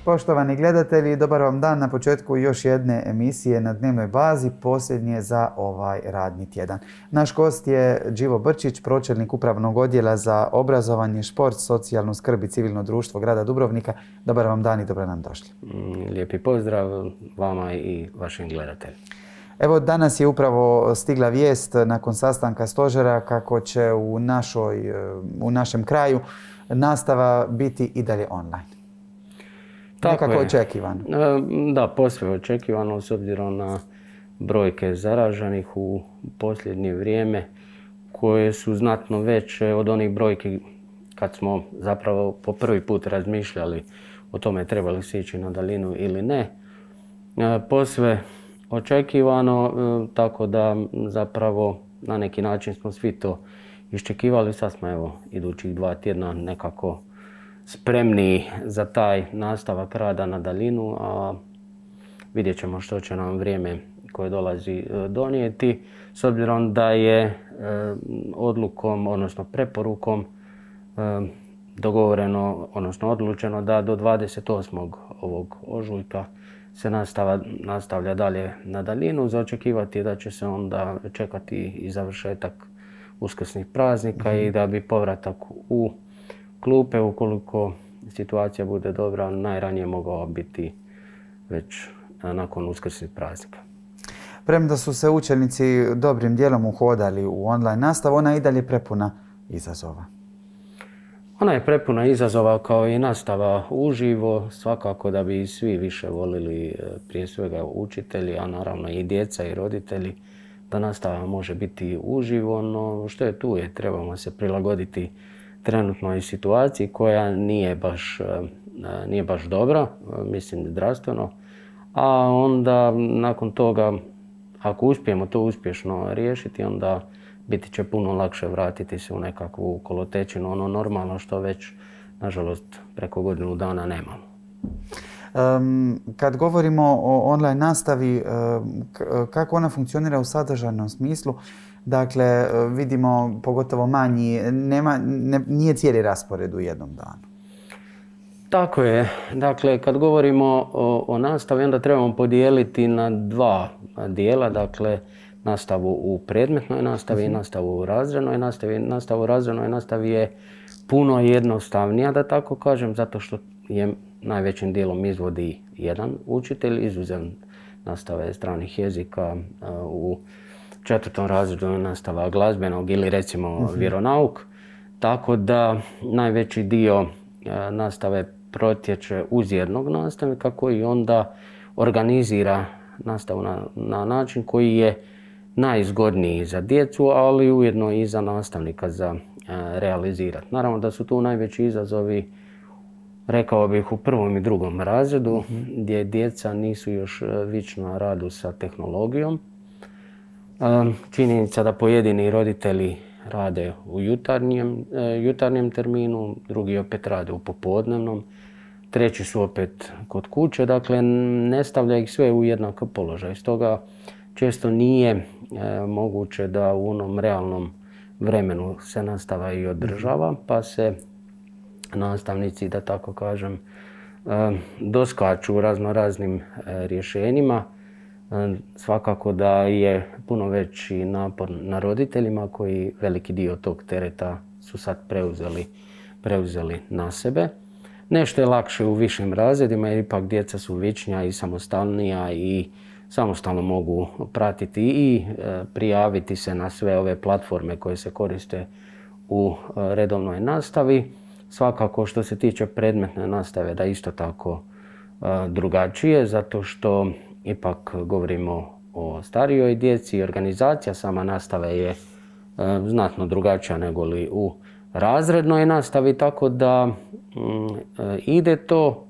Poštovani gledatelji, dobar vam dan na početku još jedne emisije na dnevnoj bazi, posljednje za ovaj radni tjedan. Naš gost je Đivo Brčić, pročelnik Upravnog odjela za obrazovanje, šport, socijalnu skrb i civilno društvo grada Dubrovnika. Dobar vam dan i dobro nam došli. Lijepi pozdrav vama i vašim gledateljima. Evo, danas je upravo stigla vijest nakon sastanka stožera kako će u našem kraju nastava biti i dalje online. Nekako očekivano. Da, posve očekivano s obzirom na brojke zaraženih u posljednje vrijeme koje su znatno veće od onih brojki kad smo zapravo po prvi put razmišljali o tome treba li se ići na daljinu ili ne. Posve očekivano, tako da zapravo na neki način smo svi to iščekivali. Sad smo evo idućih 2 tjedna nekako spremni za taj nastavak rada na daljinu, a vidjet ćemo što će nam vrijeme koje dolazi donijeti. S obzirom da je odlukom, odnosno preporukom dogovoreno, odnosno odlučeno da do 28. ovog ožujka se nastavlja dalje na daljinu. Za očekivati je da će se onda čekati i završetak uskrsnih praznika i da bi povratak u klupe, ukoliko situacija bude dobra, najranije mogao biti već nakon uskrsnih praznika. Premda su se učenici dobrim dijelom uhodali u online nastavu, ona je i dalje prepuna izazova. Ona je prepuna izazova kao i nastava uživo, svakako da bi svi više volili, prije svega učitelji, a naravno i djeca i roditelji, da nastava može biti uživo, no što je tu je, trebamo se prilagoditi trenutnoj situaciji koja nije baš dobra, mislim zdravstveno, a onda nakon toga, ako uspijemo to uspješno riješiti, onda biti će puno lakše vratiti se u nekakvu kolotečinu, ono normalno što već, nažalost, preko godinu dana nemamo. Kad govorimo o online nastavi, kako ona funkcionira u sadržajnom smislu? Dakle, vidimo pogotovo manji, nije cijeli raspored u jednom danu. Tako je. Dakle, kad govorimo o nastavi, onda trebamo podijeliti na 2 dijela. Dakle, nastavu u predmetnoj nastavi i nastavu u razrednoj nastavi. Nastavu u razrednoj nastavi je puno jednostavnija, da tako kažem, zato što je najvećim dijelom izvodi jedan učitelj, izuzev nastave stranih jezika. U 4. razredu je nastava glazbenog ili recimo vjeronauk. Tako da najveći dio nastave protječe uz jednog nastavnika koji onda organizira nastavu na način koji je najzgodniji za djecu, ali ujedno i za nastavnika za realizirati. Naravno da su tu najveći izazovi, rekao bih, u 1. i 2. razredu, gdje djeca nisu još vična radu sa tehnologijom. Činjenica da pojedini roditelji rade u jutarnjem terminu, drugi opet rade u popodnevnom, treći su opet kod kuće, dakle ne stavlja ih sve u jednak položaj. Stoga često nije moguće da u onom realnom vremenu se nastava i održava, pa se nastavnici, da tako kažem, doskaču raznoraznim rješenjima. Svakako da je puno veći napor na roditeljima koji veliki dio tog tereta su sad preuzeli na sebe. Nešto je lakše u višim razredima jer ipak djeca su vičnija i samostalnija i samostalno mogu pratiti i prijaviti se na sve ove platforme koje se koriste u redovnoj nastavi. Svakako što se tiče predmetne nastave da isto tako drugačije, zato što ipak govorimo o starijoj djeci i organizacija sama nastave je znatno drugačija nego li u razrednoj nastavi, tako da ide to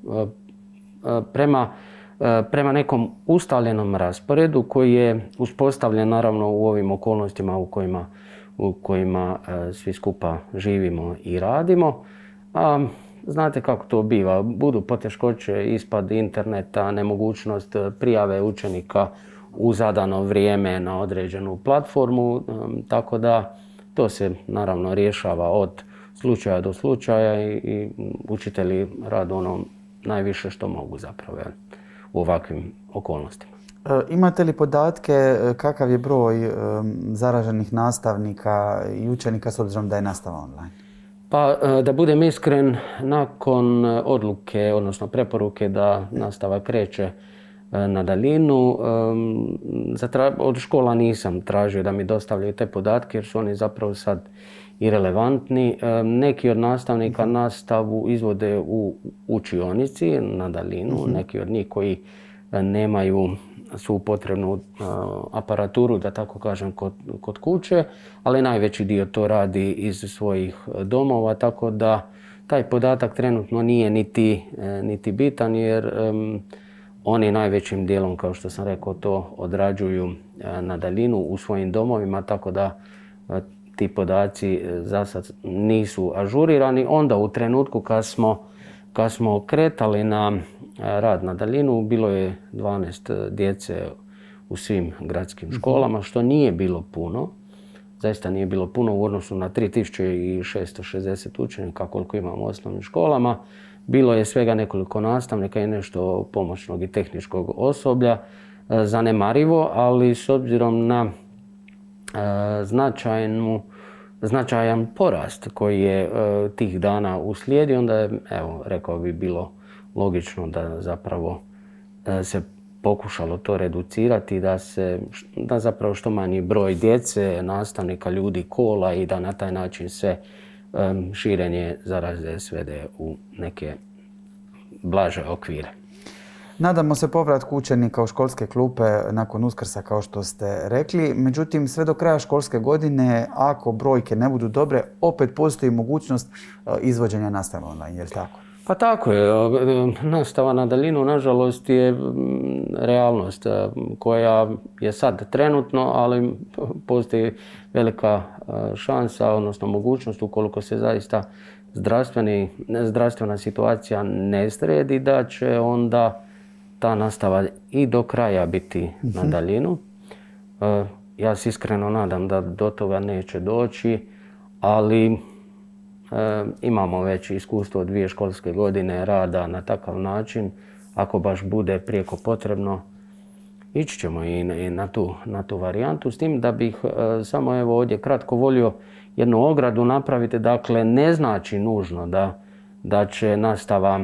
prema nekom ustaljenom rasporedu koji je uspostavljen naravno u ovim okolnostima u kojima svi skupa živimo i radimo. A znate kako to biva, budu poteškoće, ispad interneta, nemogućnost prijave učenika u zadano vrijeme na određenu platformu, tako da to se naravno rješava od slučaja do slučaja i učitelji rade ono najviše što mogu zapravo u ovakvim okolnostima. Imate li podatke kakav je broj zaraženih nastavnika i učenika s obzirom da je nastava online? Pa da budem iskren, nakon odluke, odnosno preporuke da nastava kreće na daljinu, od škola nisam tražio da mi dostavljaju te podatke jer su oni zapravo sad irelevantni. Neki od nastavnika nastavu izvode u učionici na daljinu, neki od njih koji nemaju svu potrebnu aparaturu, da tako kažem, kod kuće, ali najveći dio to radi iz svojih domova, tako da taj podatak trenutno nije niti bitan jer oni najvećim dijelom, kao što sam rekao, to odrađuju na daljinu u svojim domovima, tako da ti podaci za sad nisu ažurirani. Onda u trenutku kad smo kretali na rad na daljinu, bilo je 12 djece u svim gradskim školama, što nije bilo puno. Zaista nije bilo puno u odnosu na 3660 učenika koliko imamo u osnovnim školama. Bilo je svega nekoliko nastavnika i nešto pomoćnog i tehničkog osoblja. Zanemarivo, ali s obzirom na značajan porast koji je tih dana uslijedio, onda je, evo, rekao bi, bilo logično da zapravo se pokušalo to reducirati, da zapravo što manji broj djece, nastavnika, ljudi, kola i da na taj način se širenje zaraze svede u neke blaže okvire. Nadamo se povratku učenika u školske klupe nakon Uskrsa, kao što ste rekli. Međutim, sve do kraja školske godine, ako brojke ne budu dobre, opet postoji mogućnost izvođenja nastave online, je li tako? Pa tako je. Nastava na daljinu, nažalost, je realnost koja je sad trenutno, ali postoji velika šansa, odnosno mogućnost, ukoliko se zaista zdravstvena situacija ne sredi, da će onda ta nastava i do kraja biti na daljinu. Ja se iskreno nadam da do toga neće doći, ali imamo već iskustvo 2 školske godine rada na takav način. Ako baš bude prijeko potrebno, ići ćemo i na tu varijantu. S tim da bih samo evo ovdje kratko volio jednu ogradu napraviti. Dakle, ne znači nužno da će nastava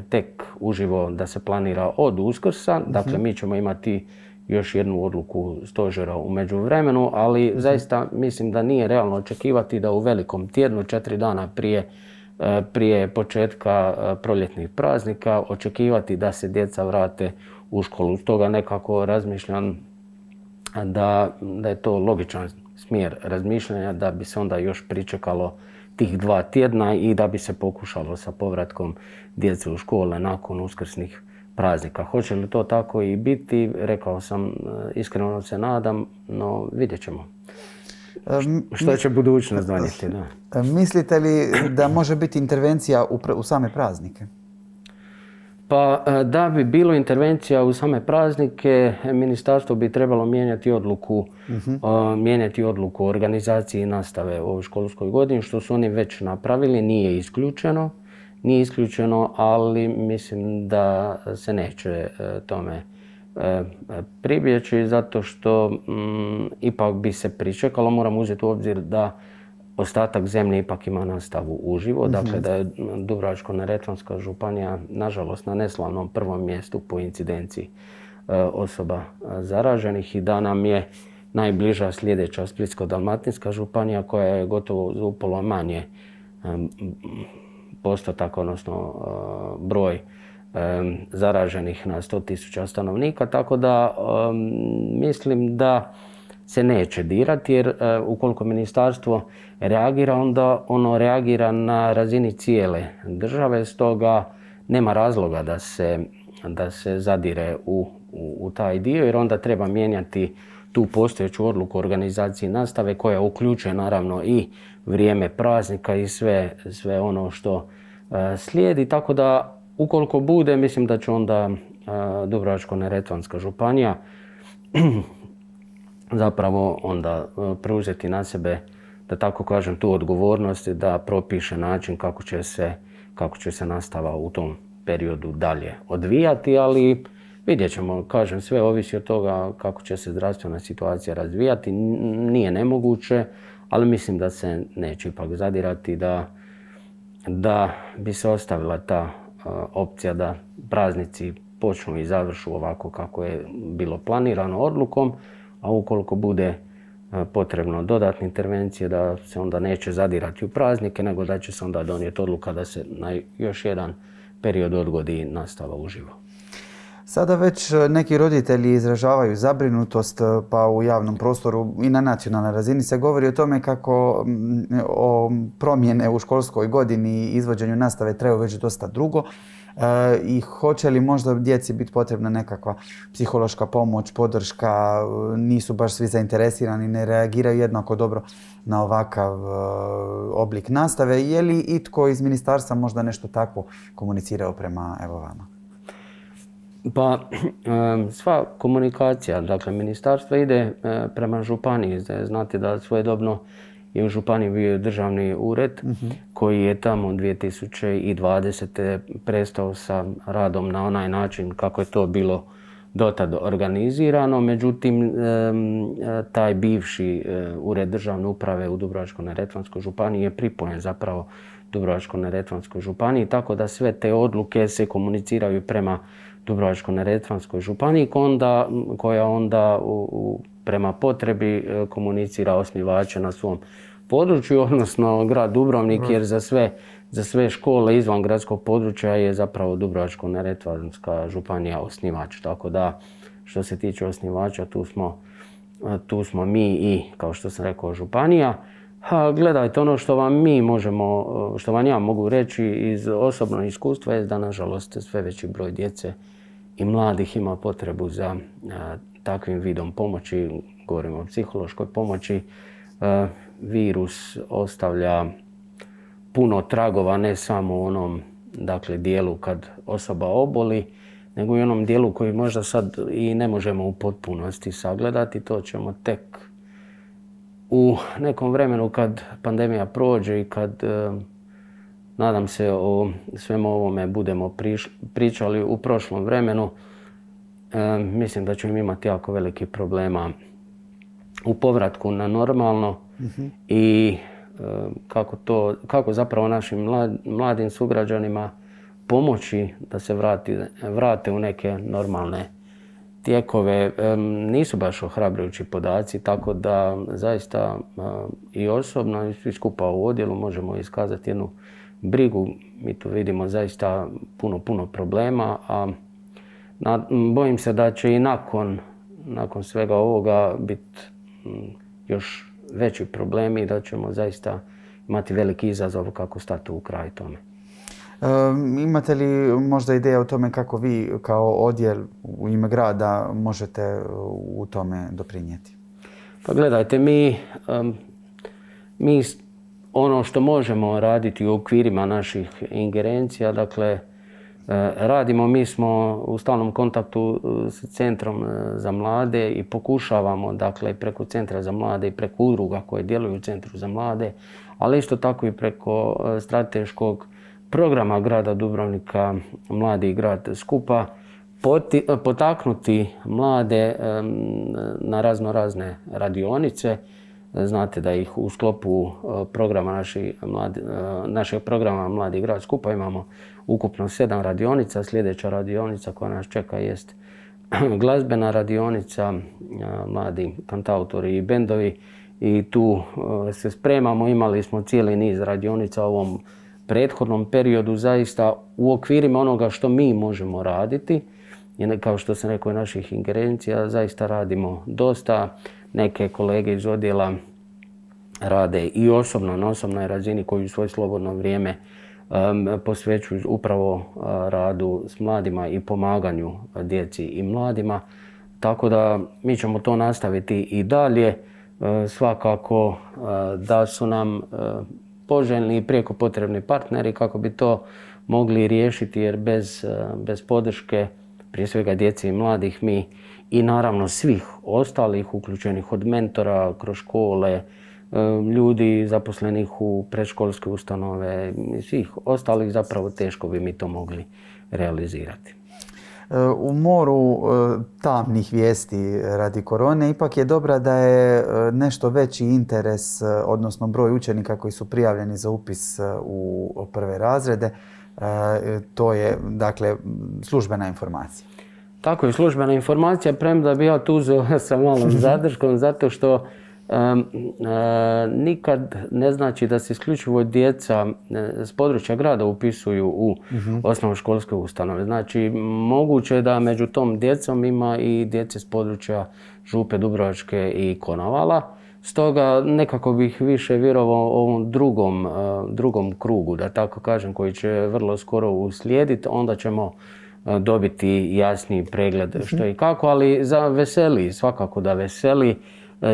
tek uživo da se planira od Uskrsa. Dakle, mi ćemo imati još jednu odluku stožera u međuvremenu, ali zaista mislim da nije realno očekivati da u velikom tjednu, 4 dana prije početka proljetnih praznika, očekivati da se djeca vrate u školu. Stoga nekako razmišljam da je to logičan smjer razmišljanja, da bi se onda još pričekalo tih 2 tjedna i da bi se pokušalo sa povratkom djece u škole nakon uskrsnih praznika. Hoće li to tako i biti, rekao sam, iskreno se nadam, no vidjet ćemo. Što će budućnost donijeti? Da. Mislite li da može biti intervencija u same praznike? Pa da bi bilo intervencija u same praznike, ministarstvo bi trebalo mijenjati odluku o organizaciji nastave u ovoj školskoj godini, što su oni već napravili, nije isključeno, ali mislim da se neće tome pribjeći, zato što ipak bi se pričekalo. Moramo uzeti u obzir da ostatak zemlje ipak ima nastavu uživo, dakle da je Dubrovačko-neretvanska županija nažalost na neslavnom prvom mjestu po incidenciji osoba zaraženih i da nam je najbliža sljedeća Splitsko-dalmatinska županija koja je gotovo za upola manje postotak, odnosno broj zaraženih na 100.000 stanovnika, tako da mislim da se neće dirati jer ukoliko ministarstvo reagira, onda ono reagira na razini cijele države, stoga nema razloga da se zadire u taj dio jer onda treba mijenjati tu postojeću odluku o organizaciji nastave koja uključuje naravno i vrijeme praznika i sve ono što slijedi, tako da ukoliko bude, mislim da će onda Dubrovačko-neretvanska županija zapravo onda preuzeti na sebe, da tako kažem, tu odgovornost da propiše način kako će se nastava u tom periodu dalje odvijati, ali vidjet ćemo, kažem, sve ovisi od toga kako će se zdravstvena situacija razvijati. Nije nemoguće, ali mislim da se neće ipak zadirati, da bi se ostavila ta opcija da praznici počnu i završu ovako kako je bilo planirano odlukom, a ukoliko bude potrebno dodatne intervencije, da se onda neće zadirati u praznike, nego da će se onda donijeti odluka da se na još jedan period odgodi nastava uživo. Sada već neki roditelji izražavaju zabrinutost, pa u javnom prostoru i na nacionalnoj razini se govori o tome kako o promjene u školskoj godini i izvođenju nastave traju već dosta dugo. I hoće li možda djeci biti potrebna nekakva psihološka pomoć, podrška, nisu baš svi zainteresirani, ne reagiraju jednako dobro na ovakav oblik nastave. Je li itko iz ministarstva možda nešto takvo komunicirao prema vama? Pa sva komunikacija, dakle ministarstvo ide prema županiji. Znate da svojedobno je u županiji bio državni ured koji je tamo 2020. prestao sa radom na onaj način kako je to bilo dotad organizirano. Međutim, taj bivši ured državne uprave u Dubrovačko-neretvanskoj županiji je pripojen zapravo Dubrovačko-neretvanskoj županiji, tako da sve te odluke se komuniciraju prema Dubrovačko-neretvanskoj županiji koja onda prema potrebi komunicira osnivače na svom području, odnosno grad Dubrovnik, jer za sve škole izvan gradskog područja je zapravo Dubrovačko-neretvanska županija osnivač. Tako da što se tiče osnivača tu smo mi i, kao što sam rekao, županija. Gledajte, ono što vam ja mogu reći iz osobnog iskustva je da nažalost sve veći broj djece i mladih ima potrebu za takvim vidom pomoći, govorimo o psihološkoj pomoći. Virus ostavlja puno tragova, ne samo u onom dijelu kad osoba oboli, nego i u onom dijelu koji možda sad i ne možemo u potpunosti sagledati. To ćemo tek u nekom vremenu kad pandemija prođe i kad, nadam se, o svemu ovome budemo pričali u prošlom vremenu, mislim da ćemo imati jako veliki problema u povratku na normalno i kako zapravo našim mladim sugrađanima pomoći da se vrate u neke normalne tijekove. Nisu baš ohrabrujući podaci, tako da zaista i osobno i svi skupa u odjelu možemo iskazati jednu brigu. Mi tu vidimo zaista puno problema, a bojim se da će i nakon svega ovoga biti još veći problemi i da ćemo zaista imati veliki izazov kako stati u kraj tome. Imate li možda ideja o tome kako vi kao odjel u ime grada možete u tome doprinijeti? Pa gledajte, mi ono što možemo raditi u okvirima naših ingerencija, dakle, radimo, mi smo u stalnom kontaktu s Centrom za mlade i pokušavamo, dakle, preko Centra za mlade i preko udruga koje djeluju u Centru za mlade, ali isto tako i preko strateškog programa grada Dubrovnika Mladi i grad skupa, potaknuti mlade na razne radionice. Znate da ih u sklopu programa našeg programa Mladi i grad skupa imamo ukupno 7 radionica. Sljedeća radionica koja nas čeka jest glazbena radionica, mladi kantautori i bendovi, i tu se spremamo. Imali smo cijeli niz radionica u ovom prethodnom periodu, zaista u okvirima onoga što mi možemo raditi. I kao što sam rekao, naših ingerencija zaista radimo dosta. Neke kolege iz odjela rade i osobno, na osobnoj razini, koji u svoje slobodno vrijeme posvećuju upravo radu s mladima i pomaganju djeci i mladima. Tako da mi ćemo to nastaviti i dalje. Svakako da su nam poželjni i prijeko potrebni partneri kako bi to mogli riješiti, jer bez podrške, prije svega djece i mladih, mi i naravno svih ostalih uključenih od mentora kroz škole, ljudi zaposlenih u predškolske ustanove i svih ostalih, zapravo teško bi mi to mogli realizirati. U moru tamnih vijesti radi korone ipak je dobra da je nešto veći interes, odnosno broj učenika koji su prijavljeni za upis u prve razrede. To je, dakle, službena informacija. Tako je, službena informacija, premda bi ja tu uzeo sa malom zadrškom, zato što nikad ne znači da se isključivo djeca s područja grada upisuju u osnovnoškolske ustanove. Znači, moguće je da među tom djecom ima i djece s područja Župe Dubrovačke i Konavala. Stoga nekako bih više vjerovao ovom drugom krugu, da tako kažem, koji će vrlo skoro uslijediti. Onda ćemo dobiti jasniji pregled što i kako, ali veseli, svakako da veseli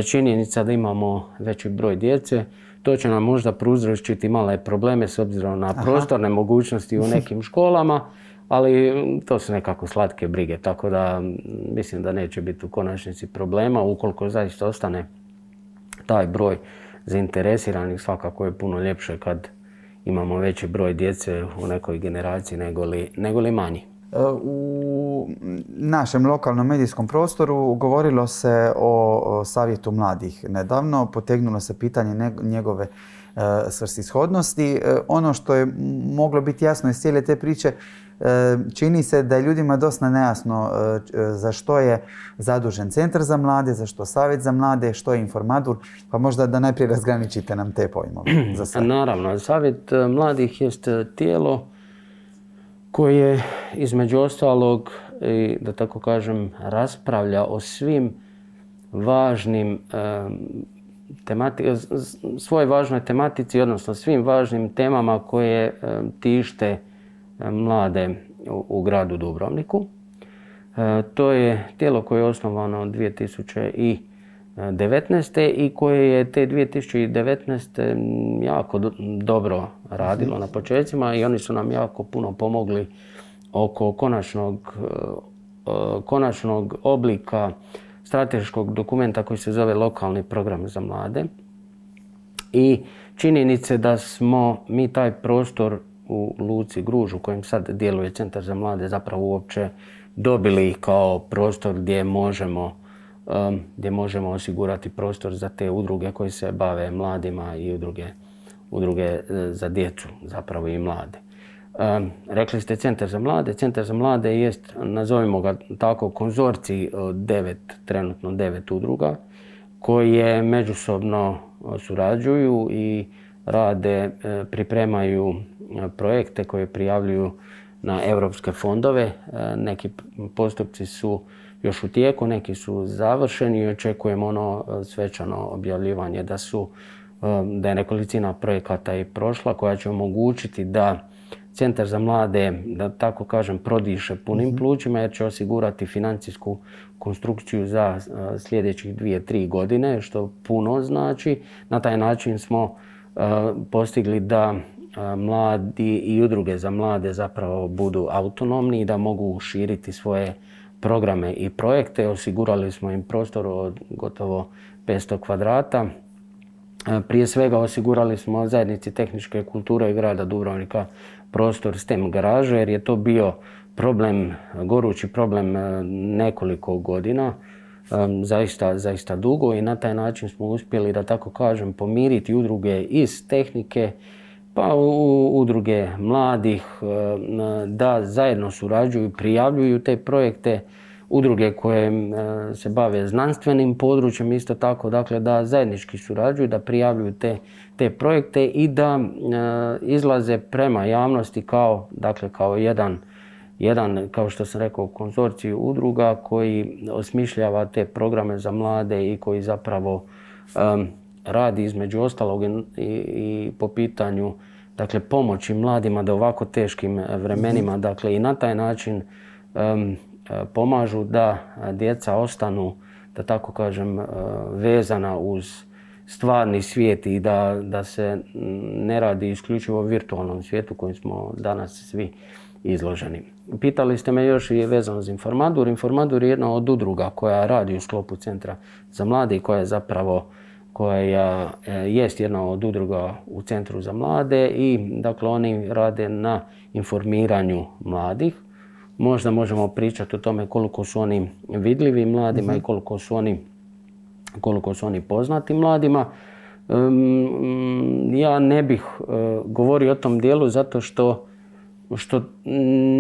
činjenica da imamo veći broj djece. To će nam možda prouzročiti male probleme s obzirom na prostorne mogućnosti u nekim školama, ali to su nekako slatke brige, tako da mislim da neće biti u konačnici problema. Ukoliko zaista ostane taj broj zainteresiranih, svakako je puno ljepše kad imamo veći broj djece u nekoj generaciji nego li manji. U našem lokalnom medijskom prostoru govorilo se o Savjetu mladih nedavno, potegnulo se pitanje njegove svrsishodnosti. Ono što je moglo biti jasno iz cijele te priče, čini se da je ljudima dosta nejasno za što je zadužen Centar za mlade, za što Savjet za mlade, što je Informadur, pa možda da najprije razgraničite nam te pojmove za sve. Naravno, Savjet mladih jest tijelo koje između ostalog, da tako kažem, raspravlja o svim važnim svoj važnoj tematici, odnosno svim važnim temama koje tište mlade u gradu Dubrovniku. To je tijelo koje je osnovano 2019. i koje je te 2019. jako dobro radilo na početcima i oni su nam jako puno pomogli oko konačnog oblika strateškog dokumenta koji se zove Lokalni program za mlade. I činjenice da smo mi taj prostor u Luci Gruž u kojem sad djeluje Centar za mlade zapravo uopće dobili kao prostor gdje možemo osigurati prostor za te udruge koje se bave mladima i udruge za djecu zapravo i mlade. Rekli ste Centar za mlade. Centar za mlade jest, nazovimo ga tako, konzorcij od trenutno 9 udruga koje međusobno surađuju i pripremaju projekte koje prijavljuju na europske fondove. Neki postupci su još u tijeku, neki su završeni i očekujemo ono svečano objavljivanje da je nekolicina projekata i prošla koja će omogućiti da Centar za mlade, da tako kažem, prodiše punim plućima jer će osigurati financijsku konstrukciju za sljedećih 2-3 godine, što puno znači. Na taj način smo postigli da mladi i udruge za mlade zapravo budu autonomni i da mogu širiti svoje programe i projekte. Osigurali smo im prostor od gotovo 500 kvadrata. Prije svega osigurali smo zajednici tehničke kulture i grada Dubrovnika prostor STEM garaže jer je to bio gorući problem nekoliko godina, zaista dugo i na taj način smo uspjeli, da tako kažem, pomiriti udruge iz tehnike pa udruge mladih da zajedno surađuju, prijavljuju te projekte, udruge koje se bave znanstvenim područjem isto tako, dakle da zajednički surađuju, da prijavljuju te projekte i da izlaze prema javnosti kao jedan, kao što sam rekao, konzorcij udruga koji osmišljava te programe za mlade i koji zapravo radi između ostalog i po pitanju pomoći mladima da u ovako teškim vremenima i na taj način pomažu da djeca ostanu, da tako kažem, vezana uz stvarni svijet i da se ne radi isključivo o virtualnom svijetu kojim smo danas svi izloženi. Pitali ste me još i vezano za Informadur. Informadur je jedna od udruga koja radi u sklopu Centra za mlade i koja jest jedna od udruga u Centru za mlade i dakle oni rade na informiranju mladih. možda možemo pričati o tome koliko su oni vidljivi mladima i koliko su oni poznati mladima. Ja ne bih govorio o tom dijelu zato što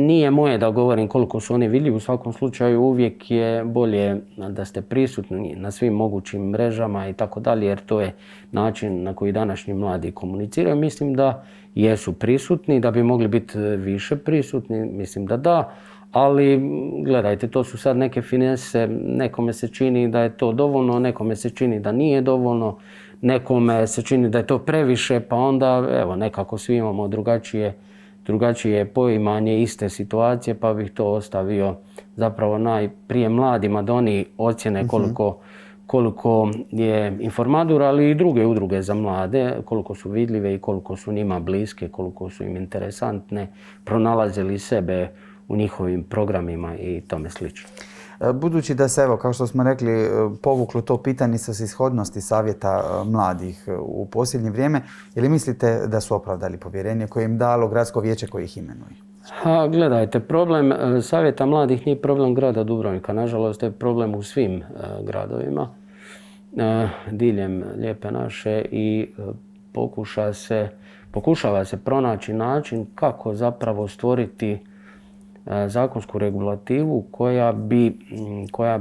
nije moje da govorim koliko su oni vidljivi. U svakom slučaju uvijek je bolje da ste prisutni na svim mogućim mrežama i tako dalje, jer to je način na koji današnji mladi komuniciraju. Mislim da jesu prisutni, da bi mogli biti više prisutni, mislim da da. Ali gledajte, to su sad neke finese, nekome se čini da je to dovoljno, nekome se čini da nije dovoljno, nekome se čini da je to previše, pa onda evo nekako svi imamo drugačije poimanje iste situacije, pa bih to ostavio zapravo najprije mladima da oni ocjene koliko je Informadur, ali i druge udruge za mlade, koliko su vidljive i koliko su njima bliske, koliko su im interesantne, pronalazili sebe u njihovim programima i tome slično. Budući da se, evo, kao što smo rekli, povuklo to pitanje svrsishodnosti savjeta mladih u posljednje vrijeme, je li mislite da su opravdali povjerenje koje im dalo gradsko vijeće koje ih imenuje? Gledajte, problem savjeta mladih nije problem grada Dubrovnika. Nažalost, je problem u svim gradovima diljem Lijepe naše i pokušava se pronaći način kako zapravo stvoriti zakonsku regulativu koja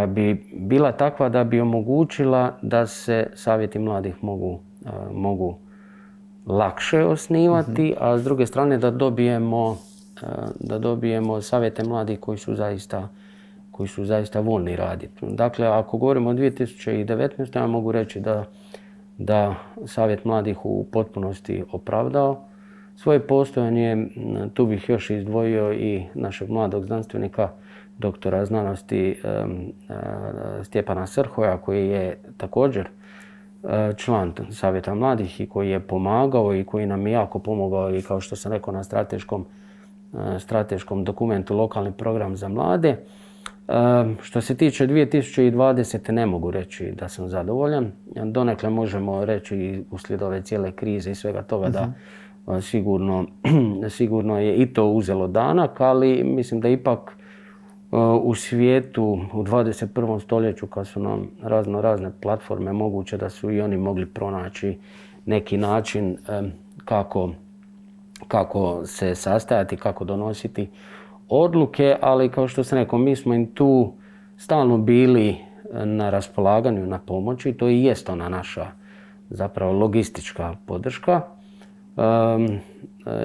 bi bila takva da bi omogućila da se savjeti mladih mogu lakše osnivati, a s druge strane da dobijemo savjete mladih koji su zaista voljni raditi. Dakle, ako govorimo o 2019. ja mogu reći da savjet mladih u potpunosti opravdao svoje postojanje. Tu bih još izdvojio i našeg mladog znanstvenika, doktora znanosti Stjepana Srhoja, koji je također član savjeta mladih i koji je pomagao i koji nam je jako pomogao i, kao što sam rekao, na strateškom dokumentu Lokalni program za mlade. Što se tiče 2020. ne mogu reći da sam zadovoljan. Donekle možemo reći uslijed ove cijele krize i svega toga da sigurno je i to uzelo danak, ali mislim da ipak u svijetu u 21. stoljeću, kad su nam razne platforme moguće, da su i oni mogli pronaći neki način kako se sastajati, kako donositi odluke, ali kao što sam rekao, mi smo im tu stalno bili na raspolaganju, na pomoći. To i jest ona naša zapravo logistička podrška.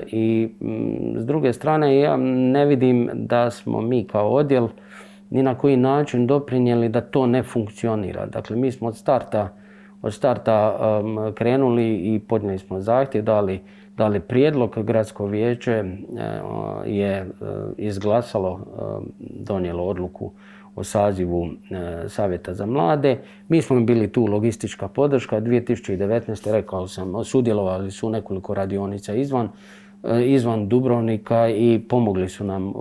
I s druge strane, ja ne vidim da smo mi kao odjel ni na koji način doprinijeli da to ne funkcionira. Dakle, mi smo od starta krenuli i podnijeli smo zahtjev, dali prijedlog. Gradsko vijeće je izglasalo, donijelo odluku o sazivu savjeta za mlade. Mi smo bili tu logistička podrška. 2019. rekao sam, sudjelovali su nekoliko radionica izvan Dubrovnika i pomogli su nam,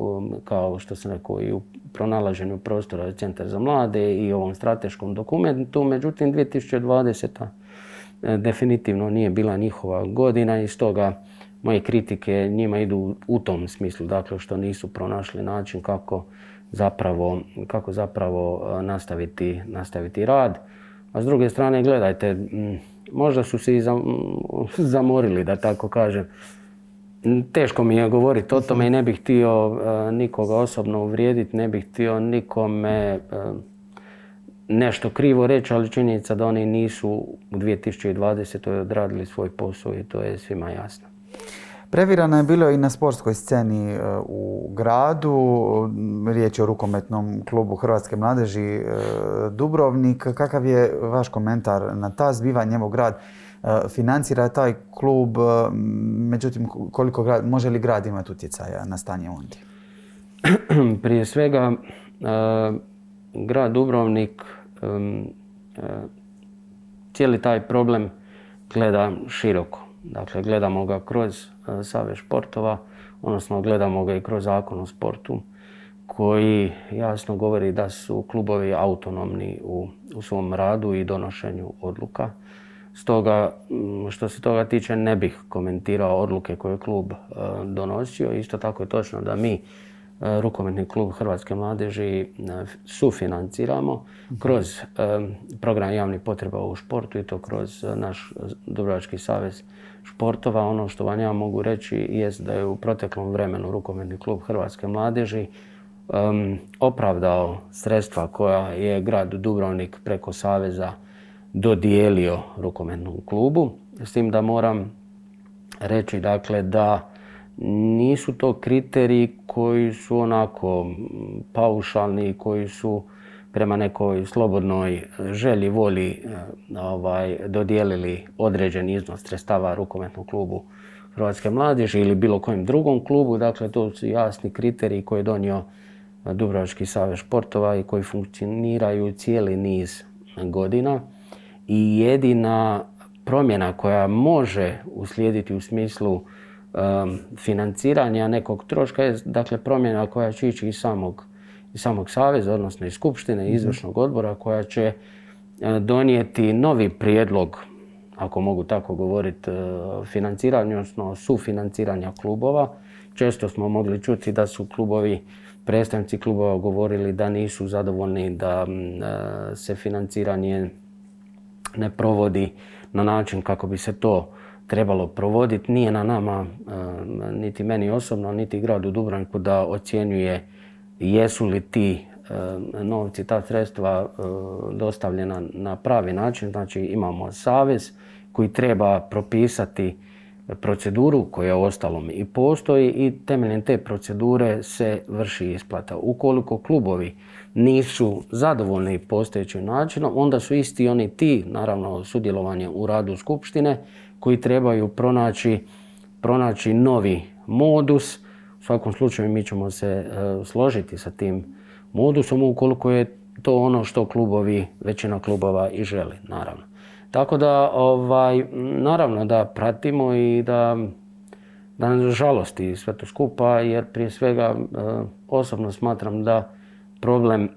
kao što sam rekao, i u pronalaženju prostora Centar za mlade i ovom strateškom dokumentu. Međutim, 2020. definitivno nije bila njihova godina i stoga moje kritike njima idu u tom smislu, dakle što nisu pronašli način kako zapravo nastaviti rad. A s druge strane, gledajte, možda su se i zamorili, da tako kažem. Teško mi je govoriti o tome i ne bih htio nikoga osobno uvrijediti, ne bih htio nikome nešto krivo reći, ali činjenica da oni nisu u 2020. odradili svoj posao i to je svima jasno. Previrano je bilo i na sportskoj sceni u gradu. Riječ je o rukometnom klubu Hrvatske mladeži Dubrovnik. Kakav je vaš komentar na ta zbivanja? Evo, grad financira taj klub, međutim, može li grad imati utjecaja na stanje ondje? Prije svega, grad Dubrovnik cijeli taj problem gleda široko. Dakle, gledamo ga kroz Savez športova, odnosno gledamo ga i kroz Zakon o sportu, koji jasno govori da su klubovi autonomni u svom radu i donošenju odluka. Stoga, što se toga tiče, ne bih komentirao odluke koje je klub donosio. Isto tako je točno da mi rukometni klub Hrvatske mladeži sufinanciramo kroz program javnih potreba u športu i to kroz naš Dubrovački savez športova. Ono što vam ja mogu reći jest da je u proteklom vremenu rukometni klub Hrvatske mladeži opravdao sredstva koja je grad Dubrovnik preko saveza dodijelio rukometnom klubu. S tim da moram reći dakle da nisu to kriteriji koji su onako paušalni, koji su prema nekoj slobodnoj želji, volji dodijelili određeni iznos sredstava rukometnom klubu Hrvatske mladeži ili bilo kojem drugom klubu. Dakle, to su jasni kriteriji koje je donio Dubrovački savez športova i koji funkcioniraju cijeli niz godina. I jedina promjena koja može uslijediti u smislu financiranja nekog troška je dakle promjena koja će ići iz samog saveza, odnosno iz skupštine, izvršnog odbora, koja će donijeti novi prijedlog, ako mogu tako govoriti, financiranja, odnosno sufinanciranja klubova. Često smo mogli čuti da su predstavnici klubova govorili da nisu zadovoljni da se financiranje ne provodi na način kako bi se to trebalo provoditi. Nije na nama, niti meni osobno, niti gradu Dubrovniku da ocjenjuje jesu li ti novci, ta sredstva dostavljena na pravi način. Znači imamo savez koji treba propisati proceduru koja uostalom i postoji i temeljem te procedure se vrši isplata. Ukoliko klubovi nisu zadovoljni postojećim načinom, onda su isti oni ti, naravno sudjelovanje u radu skupštine, koji trebaju pronaći novi modus. U svakom slučaju mi ćemo se složiti sa tim modusom ukoliko je to ono što većina klubova i želi, naravno. Tako da, naravno da pratimo i da nas žalosti sve to skupa, jer prije svega osobno smatram da problem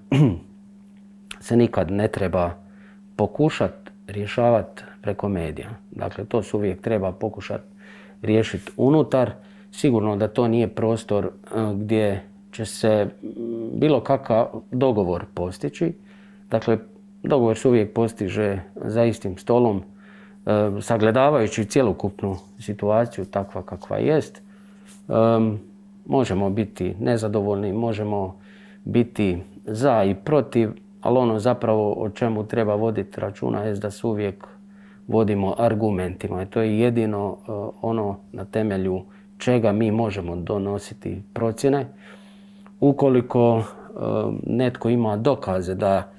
se nikad ne treba pokušati rješavati preko medija. Dakle, to se uvijek treba pokušati riješiti unutar. Sigurno da to nije prostor gdje će se bilo kakav dogovor postići. Dakle, dogovor se uvijek postiže za istim stolom, sagledavajući cjelokupnu situaciju takva kakva jest. Možemo biti nezadovoljni, možemo biti za i protiv, ali ono zapravo o čemu treba voditi računa je da se uvijek vodimo argumentima. I to je jedino ono na temelju čega mi možemo donositi procjene. Ukoliko netko ima dokaze da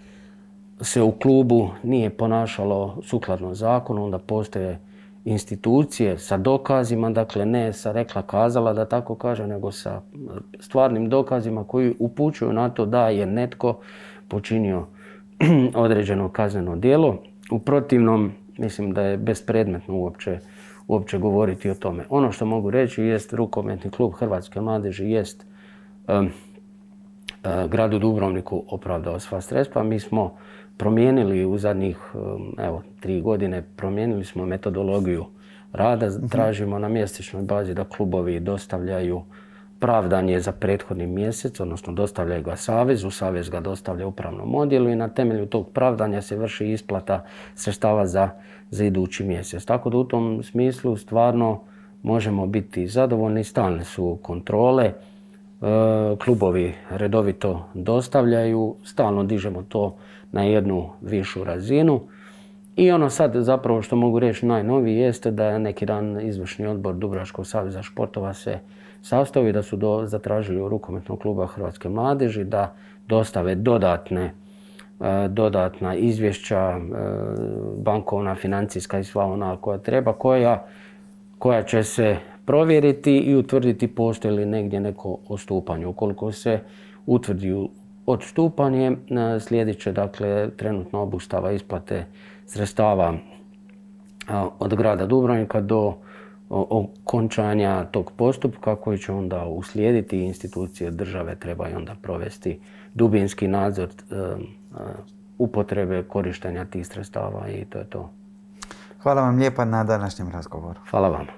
se u klubu nije ponašalo sukladno zakonu, onda postoje institucije sa dokazima, dakle ne sa rekla kazala da tako kaže, nego sa stvarnim dokazima koji upućuju na to da je netko počinio određeno kazneno djelo. U protivnom, mislim da je bespredmetno uopće govoriti o tome. Ono što mogu reći jest rukometni klub Hrvatske mladeži jest gradu Dubrovniku opravdao sva sredstva. Mi smo promijenili u zadnjih 3 godine, promijenili smo metodologiju rada. Tražimo na mjesečnoj bazi da klubovi dostavljaju pravdanje za prethodni mjesec, odnosno dostavljaju ga savezu, savez ga dostavlja upravnom odjelu i na temelju tog pravdanja se vrši isplata sredstava za idući mjesec. Tako da u tom smislu stvarno možemo biti zadovoljni, stalne su kontrole, klubovi redovito dostavljaju, stalno dižemo to na jednu višu razinu. I ono sad zapravo što mogu reći najnoviji jeste da je neki dan izvršni odbor Dubrovačkog saveza športova se sastao i da su zatražili u rukometnog kluba Hrvatske mladeži da dostave dodatna izvješća, bankovna, financijska i sva ona koja treba, koja će se provjeriti i utvrditi postoji li negdje neko odstupanje. Ukoliko se utvrdi odstupanje, slijedit će dakle trenutno obustava isplate sredstava od grada Dubrovnika do okončanja tog postupka koji će onda uslijediti i institucije države trebaju onda provesti dubinski nadzor upotrebe korištenja tih sredstava i to je to. Hvala vam lijepa na današnjem razgovoru. Hvala vama.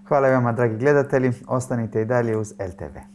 Hvala i vama, dragi gledatelji. Ostanite i dalje uz LTV.